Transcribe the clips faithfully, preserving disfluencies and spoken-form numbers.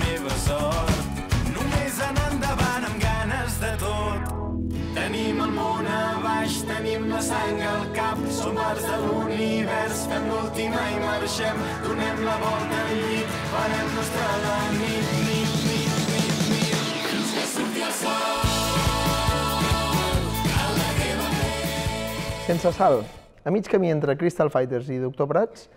meva sort. Només anar endavant amb ganes de tot. Tenim el món a baix, tenim la sang al cap, som parts de l'univers, fem l'última i marxem, donem la volta al llit, farem nostra la nit, nit, nit, nit, nit, fins que surti el sol. Sense sal. A mig camí entre Crystal Fighters i Doctor Prats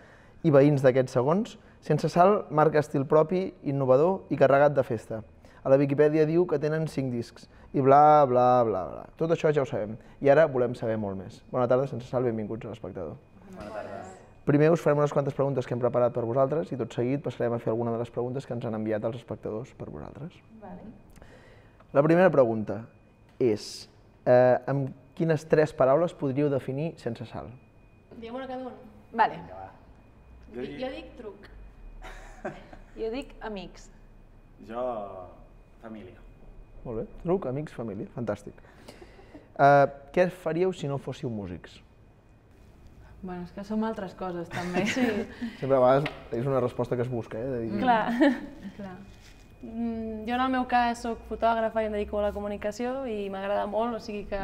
i veïns d'aquests segons, Sense sal marca estil propi, innovador i carregat de festa. A la Viquipèdia diu que tenen cinc discs i bla, bla, bla, bla. Tot això ja ho sabem. I ara volem saber molt més. Bona tarda, Sense sal, benvinguts a l'Espectador. Bona tarda. Primer us farem unes quantes preguntes que hem preparat per vosaltres i tot seguit passarem a fer alguna de les preguntes que ens han enviat els espectadors per vosaltres. La primera pregunta és eh, amb quines tres paraules podríeu definir Sense sal? Diguem una cada un. Vale. Jo, jo dic truc. Jo dic amics. Jo, família. Molt bé. Truc, amics, família. Fantàstic. Uh, què faríeu si no fóssiu músics? Bueno, és que som altres coses, també. Sí. Sempre a vegades és una resposta que es busca, eh? De dir... Clar. Clar. Mm, jo en el meu cas soc fotògrafa i em dedico a la comunicació i m'agrada molt, o sigui que,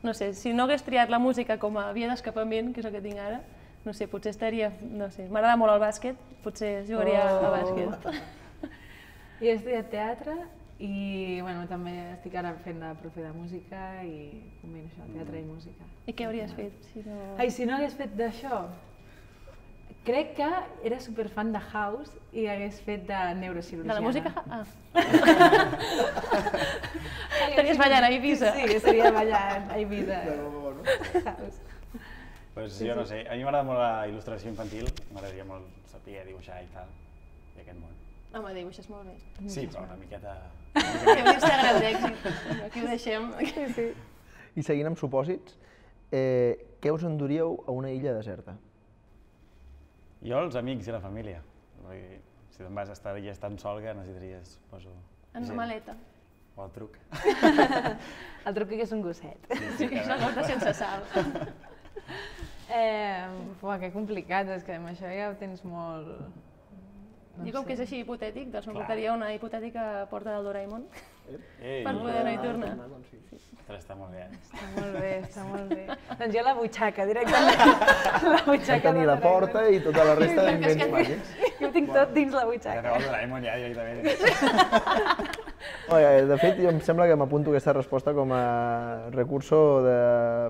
no sé, si no hagués triat la música com a via d'escapament, que és el que tinc ara, no sé, potser estaria, no sé, m'agrada molt el bàsquet, potser jugaria oh. a bàsquet. Jo he estudiat teatre i, bueno, també estic ara fent de profe de música i combino això, teatre i música. I què hauries fet si no... Ai, si no hagués fet d'això? Crec que era superfan de House i hagués fet de neurocirurgiana. De la música? Ah. Estaries ballant a Eivissa. Sí, seria ballant a Eivissa. House. Pues jo no sé, a mi m'agrada molt la il·lustració infantil, m'agradaria molt saber dibuixar i tal, i aquest món. Home, dibuixes molt bé. Sí, però una miqueta... Té un Instagram d'èxit, aquí ho deixem. I seguint amb supòsits, eh, què us enduríeu a una illa deserta? Jo, els amics i la família. Si te'n vas a estar allà tan sol que necessitaries, poso... En una maleta. O el truc. El truc que és un gosset. Sí, és la cosa sense sal. Eh, Uah, que complicat, és que amb això ja ho tens molt... No I com sé. Que és així hipotètic, doncs m'aportaria una hipotètica porta del Doraemon Ei, per poder anar i tornar. Sí. Està molt bé. Està molt bé, està molt bé. Doncs jo la butxaca, directament. La butxaca tenir la porta i tota la resta d'invents màgics. Jo ho tinc tot dins la butxaca. Ja el Doraemon ja, directament. De fet, em sembla que m'apunto aquesta resposta com a recurso de...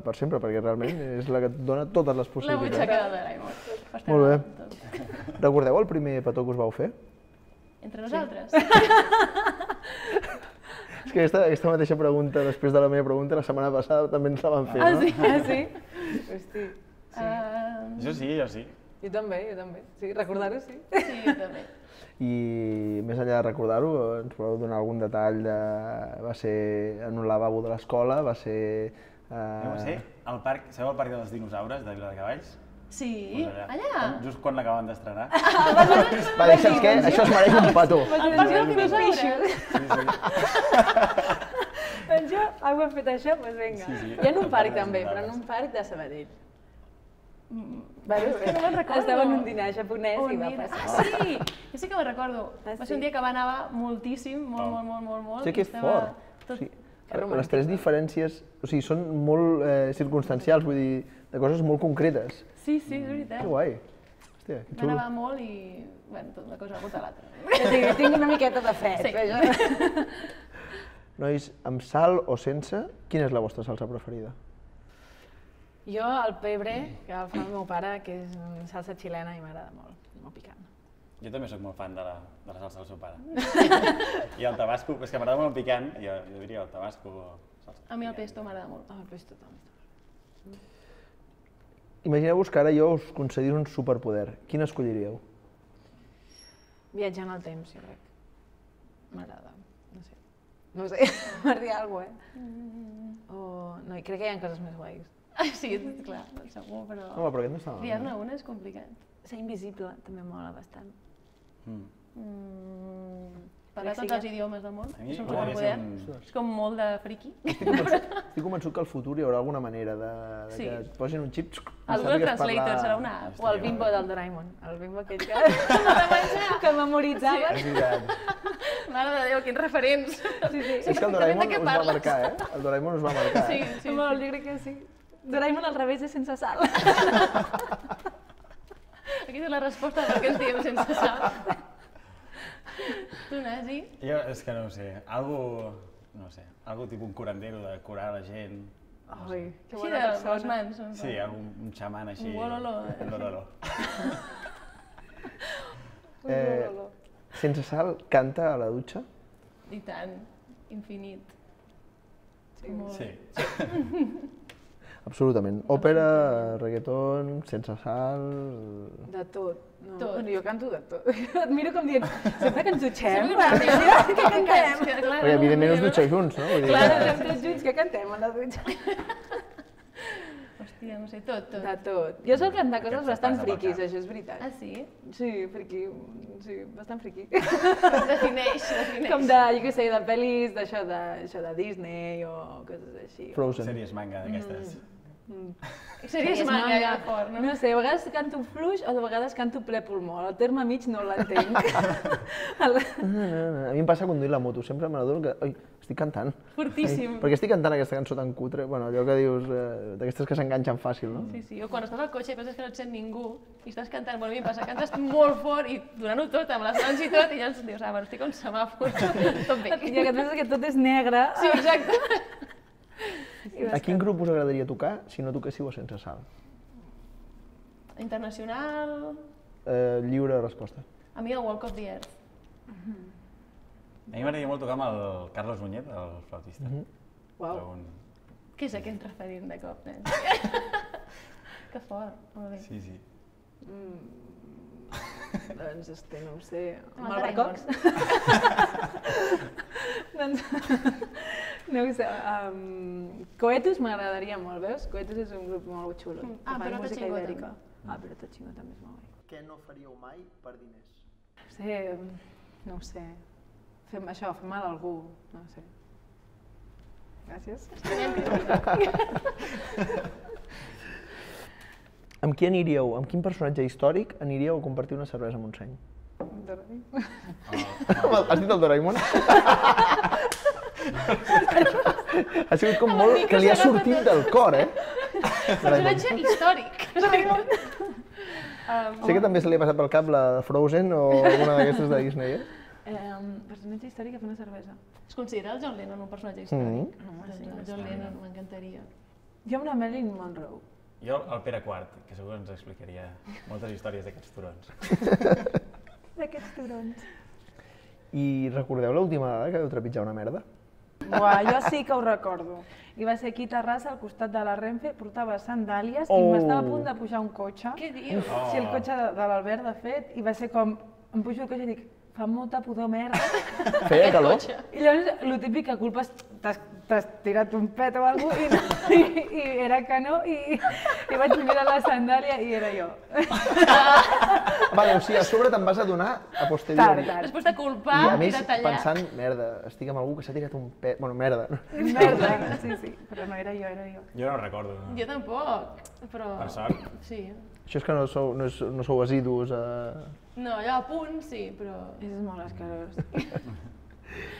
per sempre, perquè realment és la que et dona totes les possibilitats. La butxaca del Doraemon. Molt bé. Recordeu el primer petó que us vau fer? Entre nosaltres? És que aquesta, aquesta mateixa pregunta, després de la meva pregunta, la setmana passada també ens la van fer, no? Ah, sí? Ah, sí? Hosti. Sí. Uh... Jo sí, jo sí. Jo també, jo també. Sí, recordar-ho, sí. Sí, jo també. I més enllà de recordar-ho, ens podeu donar algun detall de... va ser en un lavabo de l'escola, va ser... Uh... No ho sé, al parc, sabeu el parc dels dinosaures de Viladecavalls? Sí, Pues allà. allà? Just quan l'acaben d'estrenar. Va dir, saps què? Això es mereix un petó. El parc dels dinosaures? Sí, sí. Doncs jo, algú ha fet això, doncs vinga. Sí, sí. I en un parc també, però en un parc de Sabadell. Mm. Bueno, és que no me'n recordo. Estava en un dinar japonès oh, i va mira. passar. Ah, sí! Jo sí que me'n recordo. Ah, va sí? ser un dia que va nevar moltíssim, molt, Oh. molt, molt, molt, molt. Sí, que fort. Tot... Sí. Que romàntic. Les tres diferències, o sigui, són molt eh, circumstancials, vull dir, de coses molt concretes. Sí, sí, és veritat. Que guai. Hòstia, que Va xulo. nevar molt i, bueno, tot una cosa ha portat l'altra. Jo tinc, tinc una miqueta de fred. Sí. Però... Nois, amb sal o sense, quina és la vostra salsa preferida? Jo el pebre, que el fa el meu pare, que és salsa xilena i m'agrada molt, molt picant. Jo també sóc molt fan de la, de la salsa del seu pare. I el tabasco, és que m'agrada molt el picant, jo, jo diria el tabasco o salsa. A mi el pesto m'agrada molt. Ah, el pesto també. Imagineu-vos que ara jo us concedís un superpoder. Quin escolliríeu? Viatjar en el temps, jo crec. M'agrada, no sé. No ho sé, per dir alguna cosa, eh? Mm. O... No, i crec que hi ha coses més guais. Ah, sí, clar, segur, però... Home, però aquest no està malament. Triar-ne una és complicat. Ser invisible també mola bastant. Mm. Mm, parlar Crec tots sí els idiomes del món, A mi és un m'agradaria superpoder. ser un- És com molt de friqui. Estic convençut, estic convençut que al futur hi haurà alguna manera de, de Sí. que et posin un xip... El Google Translator serà una app. O el bimbo del Doraemon, el bimbo aquell que, que memoritzava. És veritat. Mare de Déu, quins referents. Sí, sí. És que el Doraemon us va marcar, eh? El Doraemon us va marcar, Sí, eh? sí. Molt, jo crec que sí. Doraemon al revés és sense sal. Aquí té la resposta del que ens diem sense sal. Tu, Nasi? Jo és que no ho sé, algo, no sé, algo tipus un curandero de curar la gent. Ai, que Així bona de les persona. mans. no? Sí, algun un xaman així. Un bololo, eh? Un bololo. Eh, sense sal, canta a la dutxa? I tant, infinit. Sí. Molt. Sí. Absolutament. Òpera, reggaeton, sense sal... De tot. No, Tot. Bueno, jo canto de tot. Et miro com dient, sempre que ens dutxem, Sempre que mira, ens què cantem? Que, clar, Perquè no, evidentment us no. dutxeu junts, no? Vull dir, Clar, que- estem tots junts, què cantem a la dutxa? Hòstia, no sé, tot, tot. De tot. Jo sol cantar coses Aquest bastant passa pel friquis, cap. això és veritat. Ah, sí? Sí, friqui, sí, bastant friqui. Defineix, defineix. Com de, jo què sé, de pel·lis d'això de, això de Disney o coses així. Frozen. Sèries manga d'aquestes. Sèries manga, ja, fort, no? No sé, a vegades canto fluix o de vegades canto ple pulmó. El terme mig no l'entenc. El- A mi em passa conduint la moto, sempre me n'adono que... Ai, estic cantant. Fortíssim. Ai, perquè estic cantant aquesta cançó tan cutre, bueno, allò que dius, eh, d'aquestes que s'enganxen fàcil, no? Sí, sí, o quan estàs al cotxe i penses que no et sent ningú i estàs cantant, bueno, a mi em passa, cantes molt fort i donant-ho tot, amb les mans i tot, i llavors dius, ah, bueno, estic com semàfor, tot bé. I que et penses que tot és negre. Sí, exacte. I vas A quin grup us agradaria tocar si no toquéssiu a sense sal? Internacional... Eh, lliure de resposta. A mi el Walk of the Earth. A mi m'agradaria molt tocar amb el Carlos Muñet, el flautista. Mhm. Uau. Però un- Què és aquest referent de cop, nen? Que fort, molt bé. Sí, sí. Doncs, este, no ho sé, Amb amb el el Barcocs? doncs, no ho sé, um, Coetus m'agradaria molt, veus? Coetus és un grup molt xulo, que Ah, fan però música Xingo ibèrica. també. Ah, però tot xingo també és molt bé. Què no faríeu mai per diners? No sé, no ho sé, fem això, fer mal a algú, no ho sé. Gràcies. Amb qui aniríeu, amb quin personatge històric aniríeu a compartir una cervesa a Montseny? Has dit el Doraemon? Ha sigut com molt... que li ha sortit del cor, eh? Personatge històric. Sé que també se li ha passat pel cap la de Frozen o alguna d'aquestes de Disney, eh? Eh, personatge històric a fer una cervesa. Es considera el John Lennon un personatge històric? Mm. Doncs el John Lennon, m'encantaria. Jo amb la Marilyn Monroe. Jo el Pere Quart, que segur que ens explicaria moltes històries d'aquests turons. D'aquests turons. I recordeu l'última vegada que vau trepitjar una merda? Uà, jo sí que ho recordo. I va ser aquí a Terrassa, al costat de la Renfe, portava sandàlies i Oh. m'estava a punt de pujar un cotxe. Què dius? Oh. Sí, el cotxe de, de l'Albert, de fet, i va ser com... Em pujo el cotxe i dic, fa molta pudor merda. Feia calor? I llavors, el típic que culpa és t'has t'has tirat un pet o alguna cosa, i, no, i, i era que no, i, i vaig mirar la sandàlia i era jo. Vale, o sigui, a sobre te'n vas adonar a Tard, posteriori. tard. Després de culpar I a i més, de tallar. pensant, merda, estic amb algú que s'ha tirat un pet... Bueno, merda. Merda, sí, sí, però no era jo, era jo. Jo no ho recordo. No? Jo tampoc, però... Per sort. Sí. Això és que no sou, no, és, no sou assidus a... No, allò a punt, sí, però... És molt escarós.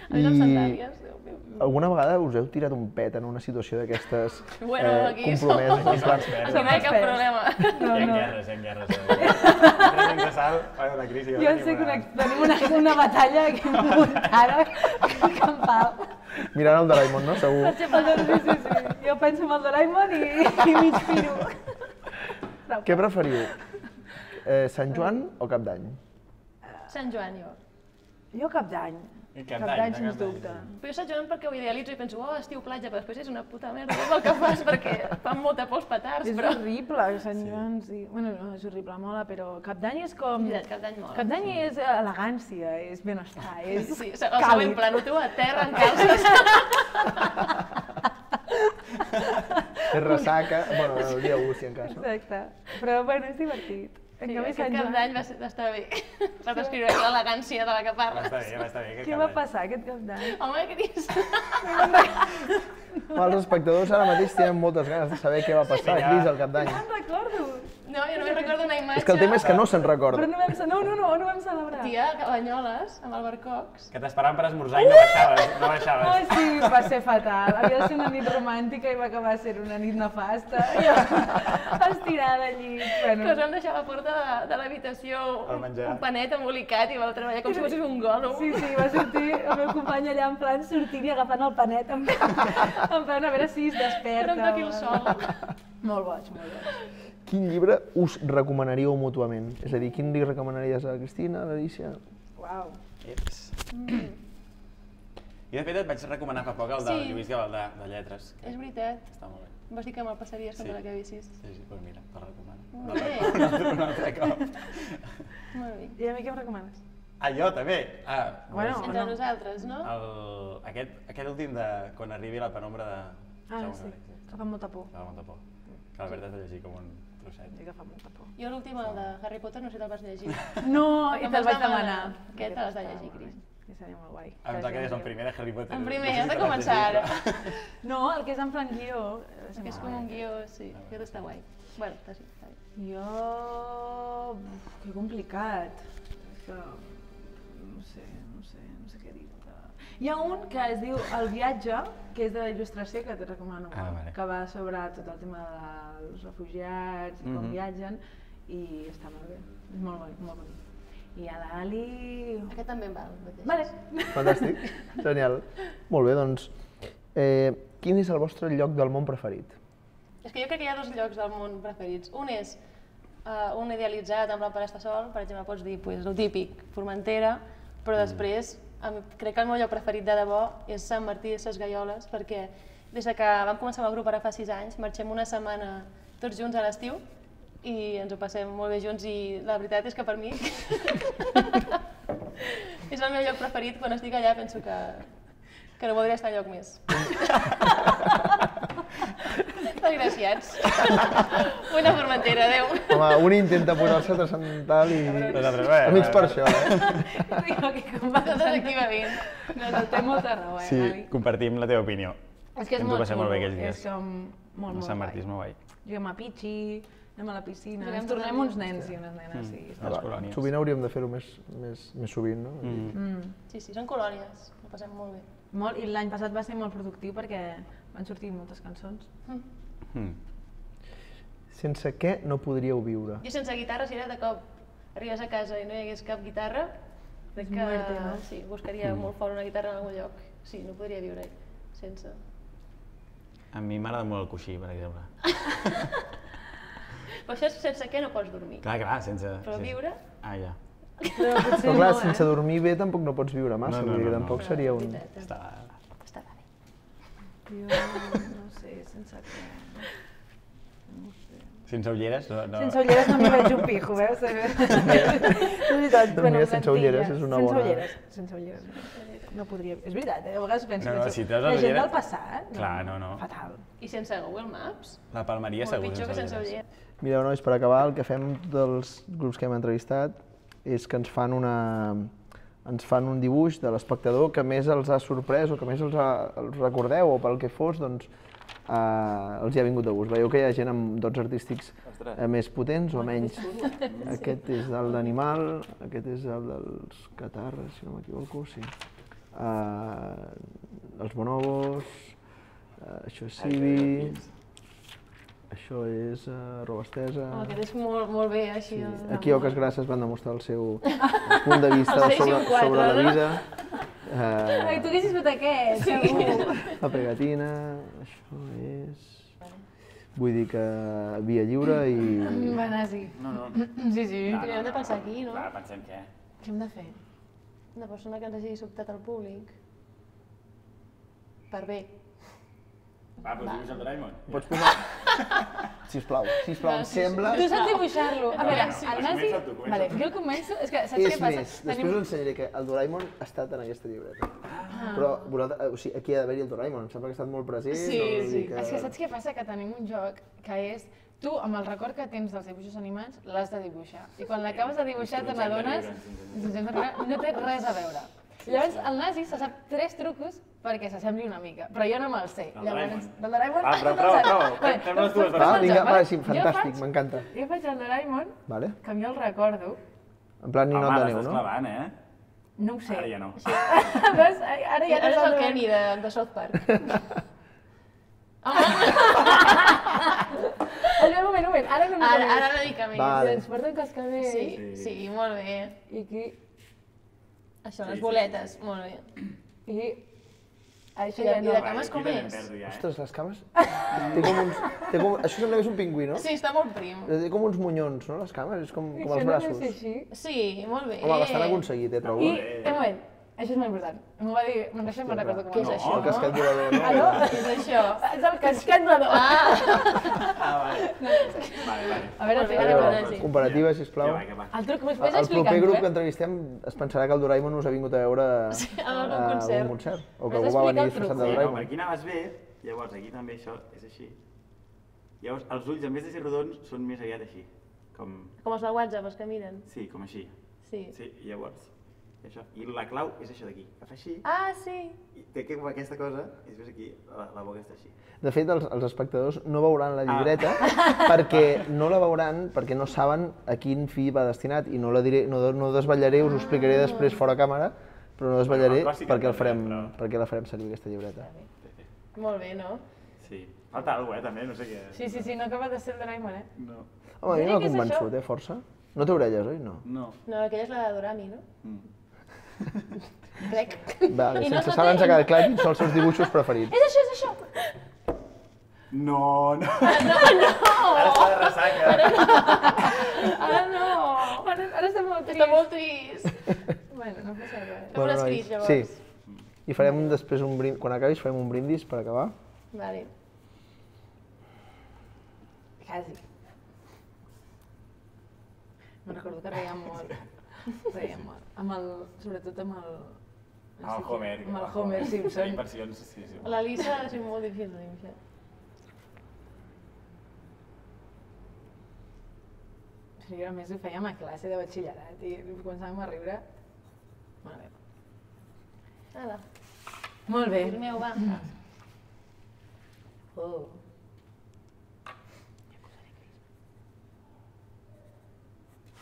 A més amb I- sandàlies, Déu meu. Alguna vegada us heu tirat un pet en una situació d'aquestes Bueno, aquí som- compromeses? En plan, Aquí Aquí no hi ha cap experts. problema. No, hi ha no. guerres, hi ha guerres. Tres de sal, fa una crisi. Jo sé que una, tenim una, una batalla aquí muntada campal. mirant el Doraemon, no? Segur. Sí, sí, sí. Jo penso en el Doraemon i, i mig piro. Què preferiu? Eh, Sant Joan o Cap d'Any? Sant Joan, jo. Jo cap d'any. I Cap Cap d'Any, d'any, no? sens Cap d'any, dubte. Però jo Sant Joan perquè ho idealitzo i penso, oh, estiu platja, però després és una puta merda, és el que fas perquè fan molta por els petards, És però... horrible, Sant Joan, sí. Bueno, no, és horrible, mola, però cap d'any és com... Veritat, Cap d'Any mola. Cap d'any és elegància, és benestar, és Sí, el següent pla, no tu a terra en calces. És ressaca, bueno, el dia u, si en cas, no? Exacte. Però, bueno, és divertit. En Sí, canvi, aquest Sant Cap Joan... d'Any va, ser- va estar bé. Va descriure l'elegància de la que Va parles. estar bé, va estar bé. aquest Què Cap va d'Any. passar aquest cap d'any? Home, què dius? Els espectadors ara mateix tenen moltes ganes de saber què va passar Sí, ja. aquí al Cap d'any. No me'n recordo. No, jo només recordo una imatge... És que el tema és que no se'n recorda. Però no vam, no, no, no, no vam celebrar. Tia, a Banyoles, amb el Barcocs. Que t'esperaven per esmorzar i no baixaves, no Oh, baixaves. sí, va ser fatal. Havia de ser una nit romàntica i va acabar sent una nit nefasta. I jo, estirada al llit. Bueno. Que us vam deixar a la porta de, de l'habitació Per menjar. un panet embolicat i vau treballar com si fossis un gòlum. Sí, sí, va sortir el meu company allà en plan sortint i agafant el panet en plan, en plan a veure si es desperta. Era un toqui el sol. Molt boig, molt boig. Quin llibre us recomanaríeu mútuament? És a dir, quin li recomanaries a la Cristina, a l'Alícia? Uau. Eps. Jo de fet et vaig recomanar fa poc el del Sí. Lluís Gavaldà, de lletres. És veritat. Està molt bé. Em vas dir que me'l passaries quan Sí. te l'acabessis. Sí, sí, doncs mira, te'l recomano. Molt bé. Un altre, un altre cop. Molt bé. I a mi què em recomanes? Ah, jo també? Ah, Bueno, doncs Entre no. nosaltres, no? el, aquest, aquest últim de quan arribi la penombra de... Ah, Jaume sí, Gabriel. que fa molta por. Que fa molta por. Que l'Albert has de llegir com un trosset. Sí que fa molta por. Jo l'últim, el de Harry Potter, no sé si te'l vas llegir. No, i Em te'l vas vaig demanar. demanar. Aquest te l'has de llegir, Cris. Sí, seria molt guai. Ah, em toca des del primer de Harry Potter. En primer, has de començar ara. No, el que és en plan guió. Que és com un guió, sí. Aquest està guai. Bueno, està, sí, està bé. Jo... Uf, que complicat. És que... No sé, no sé, no sé què dir-te. Hi ha un que es diu El viatge, que és de la il·lustració, que t'ho recomano, Ah, vale. que va sobre tot el tema dels refugiats, i com Mhm. viatgen, i està molt bé. És molt bonic, molt bonic. I a l'Ali... Aquest també em val. el mateix. Vale. Fantàstic, genial. Molt bé, doncs, eh, quin és el vostre lloc del món preferit? És que jo crec que hi ha dos llocs del món preferits. Un és uh, un idealitzat amb l'Empara està sol, per exemple, pots dir pues, el típic, Formentera, però després em, crec que el meu lloc preferit de debò és Sant Martí de Ses Gaioles, perquè des de que vam començar amb el grup ara fa sis anys, marxem una setmana tots junts a l'estiu i ens ho passem molt bé junts i la veritat és que per mi és el meu lloc preferit. Quan estic allà penso que, que no voldria estar enlloc més. Desgraciats. Una Formentera, adeu. Home, un intenta posar-se transcendental i... Nosaltres, bé, Amics bé, per bé. això, eh? Digo que com va Tot aquí va bé. No, no, té molta raó, eh, Sí, Gali? compartim la teva opinió. És que és Ens ho molt passem molt bé xulo, aquells dies. és com molt, molt Sant Martí és guai. molt guai. Juguem a pitxi, anem a la piscina, Juguem ens tornem tot el uns dia. nens i unes nenes, sí. Mm. està Les Va, colònies. sovint hauríem de fer-ho més, més, més sovint, no? Mm. Mm. Sí, sí, són colònies, ho passem molt bé. Molt, i l'any passat va ser molt productiu perquè van sortir moltes cançons. Mm. Sense què no podríeu viure? Jo sense guitarra, si ara de cop arribes a casa i no hi hagués cap guitarra, crec que Muerte, no? sí, buscaria Mm. molt fort una guitarra en algun lloc. Sí, no podria viure sense. A mi m'agrada molt el coixí, per exemple. Però això és sense què no pots dormir. Clar, clar, sense... Però sense- viure? Ah, ja. Però potser Però clar, no, sense eh? dormir bé tampoc no pots viure massa, No, no, vull dir que no, no. tampoc seria un... Veritat, eh? Està... Està bé. Jo no sé, sense què... No sé. Sense ulleres? No, no. Sense ulleres no m'hi veig un pijo, veus? És veritat, Doncs mira, amb sense ulleres és una sense bona- Ulleres, sense ulleres, no podria... És veritat, eh? A vegades penso... No, no, penso, si treus la les gent ulleres- del passat... Clar, no, no. Fatal. I sense Google Maps? La palmeria Molt segur pitjor que sense ulleres. ulleres. Mireu, nois, per acabar, el que fem dels grups que hem entrevistat és que ens fan una... ens fan un dibuix de l'espectador que més els ha sorprès o que més els, ha, els recordeu o pel que fos, doncs eh, els hi ha vingut de gust. Veieu que hi ha gent amb dots artístics eh, més potents o menys. Aquest és el d'Animal, aquest és el dels Catarres, si no m'equivoco, sí. Eh, els Bonobos, eh, això és Civi, això és uh, Roba Estesa. Oh, aquest és molt, molt bé, així. Sí. el- Aquí Oques Grasses van demostrar el seu punt de vista El seis i sobre, un quatre, sobre la no? vida. Ai, Eh, tu haguessis fet aquest, segur. la pegatina, això és... Vull dir que via lliure i... Va anar, sí. No, no. Sí, sí. Però hem de pensar aquí, no? Clar, pensem què? Què hem de fer? Una persona que ens hagi sobtat al públic. Per bé. Va, doncs dibuix el Doraemon. Pots posar... Sisplau, sisplau, em sembla... Tu saps dibuixar-lo? A veure, Sí, el comença Nasi... tu, comença Vale, tu. jo començo... És que saps És què passa? més, després us ensenyaré que el Doraemon ha estat en aquesta llibreta. Ah. Però vosaltres, o sigui, aquí ha d'haver-hi el Doraemon, em sembla que ha estat molt present. Sí, no? Vull sí. dir que... És que saps què passa? Que tenim un joc que és... Tu, amb el record que tens dels dibuixos animats, l'has de dibuixar. I quan l'acabes de dibuixar te n'adones... No té res a veure. Llavors, el nazi se sap tres trucos perquè s'assembli una mica, però jo no me'ls sé. El Llavors, Doraemon. del Doraemon... Va, prou, no prou, te'l prou. saps. Fem- fem les dues Va, versions. vinga, va, sí, Jo fantàstic, faig- m'encanta. Jo faig el Doraemon, Vale? que jo el recordo, En plan ninot Home, de neu, l'estàs no? clavant, eh? no ho sé. Ara ja no. Veus? Ara ja Ara és el sé. Kenny de, de South Park. Espera, un moment, un moment, ara no m'ho Ara, sé. ara una mica més. Vale. Ens porten cascabel. Sí, sí, molt bé. I aquí... Això, Sí, les sí, boletes, molt bé. I... Això I ja de, no. i de cames com Aquí també em és? perdo ja, eh? Ostres, les cames... Té com uns... Té com... Això sembla que és un pingüí, no? Sí, està molt prim. Té com uns monyons, no, les cames? És com, com els Això no braços. deu ser així. Sí, molt bé. Home, bastant aconseguit, eh, trobo. I, un moment, això és molt important. M'ho va dir, me'n deixem, me'n recordo com Què és es això? El casquet volador, no? Ah, no? Què és això? És el casquet volador. Ah, vale. Vale, vale. A veure, Molt bé, a ara veure, va, sí. Comparativa, sisplau. Que va, que va. el truc, m'ho El pots el explicar? proper grup eh? que entrevistem es pensarà que el Doraemon us ha vingut a veure Sí, a un a concert. un concert. O que M'has algú va venir d'explicar el disfressat truc. de Sí, no, per Doraemon. aquí anaves bé, llavors aquí també això és així. Llavors els ulls, en vez de ser rodons, són més aviat així. Com... Com els de WhatsApp, els que miren. Sí, com així. Sí. Sí, i llavors... Això. I la clau és això d'aquí, que fa així, Ah, sí. i té que com aquesta cosa, i després aquí la, la boca està així. De fet, els, els espectadors no veuran la llibreta perquè no la veuran, perquè no saben a quin fi va destinat i no la diré, no, no desvetllaré, us ho explicaré després fora càmera, però no desvetllaré Bueno, el clàssic perquè, el també, farem, però- perquè la farem servir aquesta llibreta. Molt bé, no? Sí. Falta alguna cosa, eh, també, no sé què... Sí, sí, sí, no acaba de ser el Doraemon, eh? No. Home, a mi Diria m'ha que és convençut, això. eh, força. No té orelles, oi? No. No. No, aquella és la de Dorami, no? Mm. Crec. Vale, I no sense es saber ens nota- ha quedat clar quins són els seus dibuixos preferits. És això, és això! No, no. No, no. Ara està de ressaca. Ara no! Ara, ara estem molt Està tristos. molt trist. Bueno, no passa res. Fem un escrit, nois, llavors. Sí. I farem després un brindis, quan acabis farem un brindis per acabar. Vale. Quasi. Me'n recordo que reiem molt. Reiem molt. Amb el, sobretot amb el... Amb el Homer. Amb el Homer Simpson. Inversions, sí, sí. La Lisa ha sigut molt difícil de dibuixar. Sí, a més ho fèiem a classe de batxillerat i començàvem a riure. Molt bé. Ala, Molt bé. el meu, va. Oh.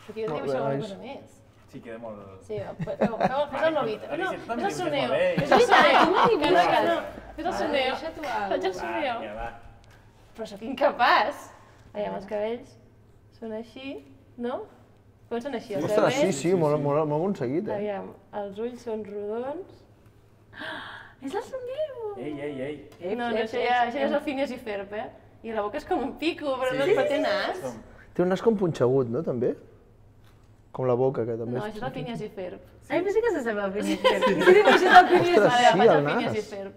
Perquè jo Molt dibuixo bé, alguna nois. cosa més. Sí, queda molt... Sí, fes, fes, fes el novit. No, Alicia, tu també fes el dibuixes soneo. molt bé. Fes el soneo. Que no, que no. Fes el Va, soneo. deixa tu alguna Faig el cosa. soneo. Ja va. Però sóc incapaç. Aviam, els cabells són així, no? Com són així, els Ostres, sí, cabells? sí, molt, molt, molt aconseguit, eh? Aviam, els ulls són rodons. És el somniu! Ei, ei, ei. No, no, això ja, això ja és el Phineas i Ferb, eh? I la boca és com un pico, però no Sí, però sí, té sí, nas. som- Té un nas com punxegut, no, també? Com la boca, que també No, això és el Phineas i Ferb. Ai, però sí que s'assembla al Phineas i Ferb. I si dibuixes el Phineas i Ostres, Vale, sí, faig el el Phineas i nas. Ferb.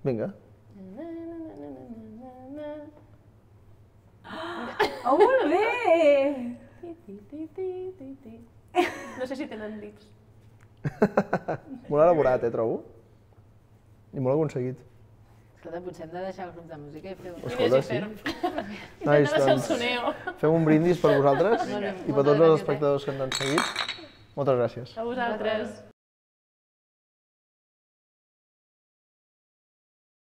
Vinga. Na, na, na, na, na, na, na. Oh, molt bé! Ti, ti, ti, ti, ti, ti. No sé si tenen dits. Molt elaborat, eh, trobo? I molt aconseguit. Escolta, potser hem de deixar els grups de música i fer un... Escolta, Phineas i sí. Ferb. Nois, Intenta ser el doncs, soneo. fem un brindis per vosaltres Vinga. i per Moltes tots els gràcies, eh? espectadors que ens han seguit. Moltes gràcies. A vosaltres.